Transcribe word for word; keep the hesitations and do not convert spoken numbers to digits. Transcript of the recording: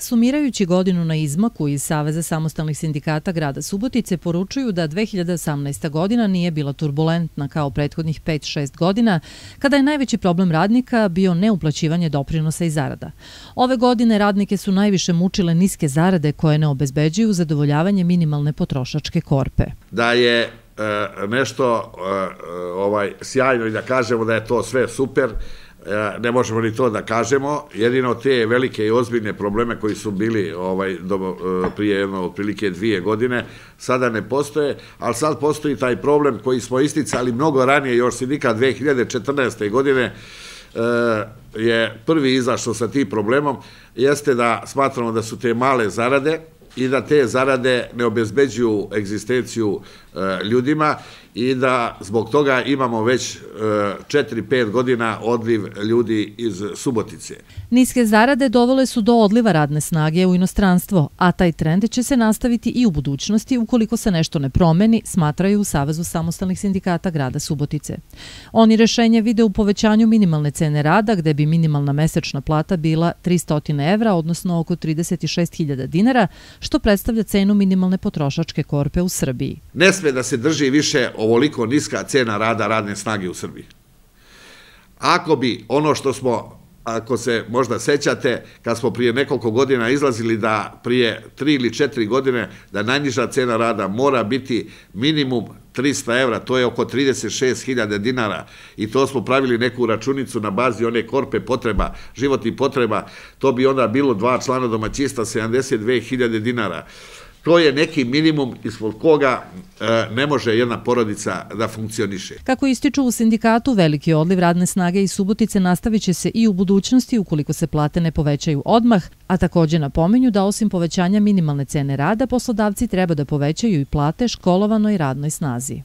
Sumirajući godinu na izmaku iz Saveza samostalnih sindikata grada Subotice poručuju da dve hiljade osamnaesta. godina nije bila turbulentna kao prethodnih pet šest godina, kada je najveći problem radnika bio neuplaćivanje doprinosa i zarada. Ove godine radnike su najviše mučile niske zarade koje ne obezbeđuju zadovoljavanje minimalne potrošačke korpe. Da je e, nešto e, ovaj, sjajno i da kažemo da je to sve super, ne možemo ni to da kažemo, jedino te velike i ozbiljne probleme koji su bili ovaj, do, prije jedno otprilike dvije godine, sada ne postoje, ali sad postoji taj problem koji smo isticali mnogo ranije, još sindikat dve hiljade četrnaeste. godine je prvi izašao sa tim problemom, jeste da smatramo da su te male zarade i da te zarade ne obezbeđuju egzistenciju ljudima i da zbog toga imamo već četiri pet godina odliv ljudi iz Subotice. Niske zarade dovele su do odliva radne snage u inostranstvo, a taj trend će se nastaviti i u budućnosti ukoliko se nešto ne promeni, smatraju u Savezu samostalnih sindikata grada Subotice. Oni rešenje vide u povećanju minimalne cene rada, gde bi minimalna mesečna plata bila tristo evra, odnosno oko trideset šest hiljada dinara, što predstavlja cenu minimalne potrošačke korpe u Srbiji. Ne sme da se drži više ovoliko niska cena rada radne snage u Srbiji. Ako bi ono što smo, ako se možda sećate, kad smo prije nekoliko godina izlazili da prije tri ili četiri godine da najniža cena rada mora biti minimum trista evra, to je oko trideset šest hiljada dinara i to smo pravili neku računicu na bazi one korpe potreba, životnih potreba, to bi onda bilo dva člana domaćinstva, sedamdeset dve hiljade dinara. To je neki minimum ispod koga ne može jedna porodica da funkcioniše. Kako ističu u sindikatu, veliki odliv radne snage iz Subotice nastavit će se i u budućnosti ukoliko se plate ne povećaju odmah, a također napominju da osim povećanja minimalne cene rada, poslodavci treba da povećaju i plate školovanoj radnoj snazi.